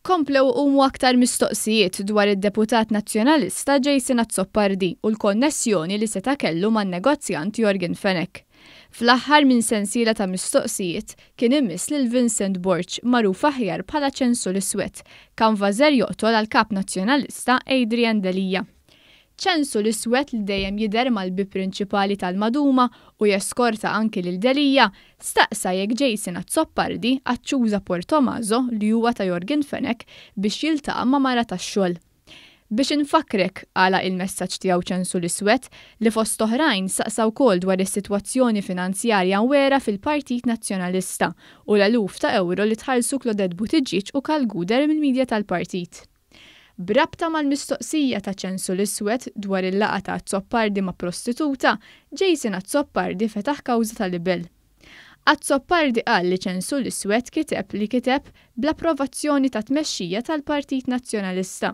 Komplew iqumu aktar mistoqsijiet dwar id-deputat Nazzjonalista Jason Azzopardi u l-konnessjoni li seta' kellu man-negozjant Yorgen Fenech. Fl-aħħar minn sensiela ta' mistoqsijiet kien imiss lil Vincent Borg, magħruf aħjar bħala Ċensu l-Iswed, kanvażer joqtol għall-Kap Nazzjonalista Adrian Delia. Ċensu l-Iswed li dejjem jidher mal-bieb prinċipali tal-Maduma u jeskorta anki lil Delia, staqsa jekk Jason Azzopardi aċċuża Portomaso li huwa ta' Yorgen Fenech biex jiltaqa' ma' mara tax-xogħol. Biex infakkrek, għalaq il-messaġġ tiegħu Ċensu l-Iswed, li fost oħrajn saqsa wkoll dwar is-sitwazzjoni finanzjarja mwegħra fil-Partit Nazzjonalista u l-eluf ta' ewro li tħallsu Claudette Buttigieg u Karl Gouder mill-media tal-partit. B'rabta mal-mistoqsija ta' Ċensu l-Iswed dwar il-laqgħa ta' Azzopardi ma' prostituta, Jason Azzopardi fetaħ kawża ta' libell. Azzopardi qal li Ċensu l-Iswed kiteb li kiteb bl-approvazzjoni tat-tmexxija tal-Partit Nazzjonalista.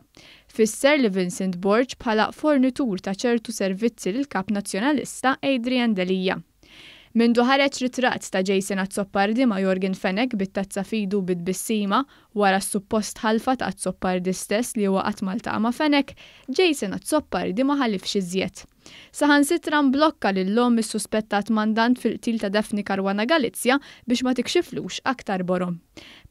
Fisser li Vincent Borg bħala fornitur ta' ċertu servizzi lill-Kap Nazzjonalista Adrian Delia. Mindu ħareġ ritratt ta' Jason Azzopardi ma' Yorgen Fenech bit-tazza f'idu bit-tbissima wara s-suppost ħalfa ta' Azzopardi stess li huwa qatt ma ltaqa' ma' Fenech, Jason Azzopardi ma ħalifx iżjed. Saħansitra mblokka lil omm is-suspettat mandant fil-qtil ta' Daphne Caruana Galizia biex ma tikxiflux aktar borom.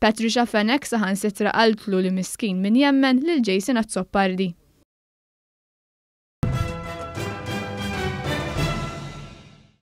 Patricia Fenech saħansitra qaltlu li miskin min jemmen lil Jason Azzopardi.